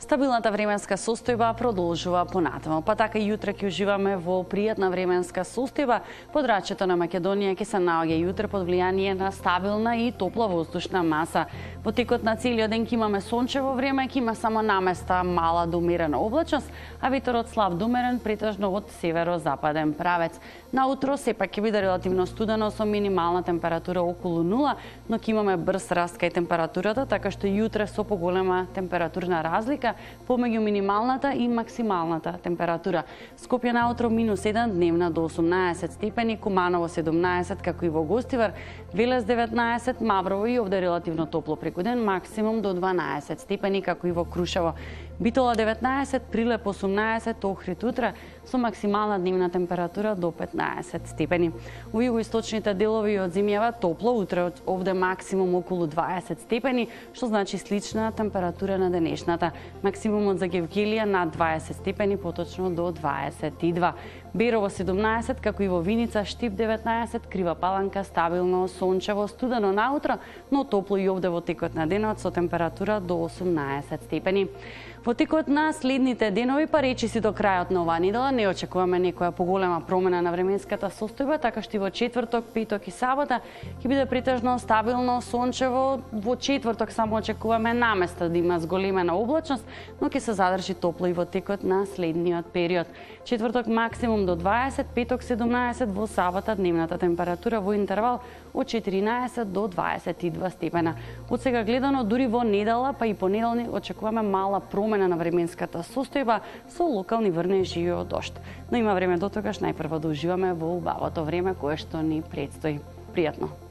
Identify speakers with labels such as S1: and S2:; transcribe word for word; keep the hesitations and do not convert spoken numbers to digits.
S1: Стабилната временска состојба продолжува понатаму, па така и јутре ќе уживаме во пријатна временска состојба. Подрачјето на Македонија ќе се наоѓа јутре под влијание на стабилна и топла воздушна маса. Во текот на целиот ден ќе имаме сончево време, ќе има само наместа мала до умерена облачност, а ветерот слаб до умерен претежно од северозападен правец. Наутро сепак ќе биде релативно студено со минимална температура околу нула, но ќе имаме брз раст кај температурата, така што јутре со поголема температурна разлика помеѓу минималната и максималната температура. Скопје наутро минус еден, дневна до осумнаесет степени, Куманово седумнаесет, како и во Гостивар, Велес деветнаесет, Маврово и овде релативно топло преку ден, максимум до дванаесет степени, како и во Крушево. Битола деветнаесет, Прилеп осумнаесет, Охрид утре со максимална дневна температура до петнаесет степени. У југоисточните делови од земјава топло, утре овде максимум околу дваесет степени, што значи слична температура на денешната. Максимумот за Гевгелија над дваесет степени, поточно до дваесет и два. Берово седумнаесет, како и во Виница, Штип деветнаесет, Крива Паланка стабилно, сончево, студено наутро, но топло и овде во текот на денот со температура до осумнаесет степени. Во текот на следните денови, па речиси до крајот на оваа недела, не очекуваме некоја поголема промена на временската состојба, така што и во четврток, петок и сабота ќе биде претежно стабилно, сончево. Во четврток само очекуваме наместа да има зголемена облачност, но ќе се задржи топло и во текот на следниот период. Четврток максимум до дваесет, петок седумнаесет, во сабота дневната температура во интервал од четиринаесет до дваесет и два степена. Од сега гледано, дури во недела, па и понеделник очекуваме мала промена на временската состојба со локални врнежи и дожд. Но има време до тогаш најпрво да уживаме во убавото време кое што ни предстои. Пријатно!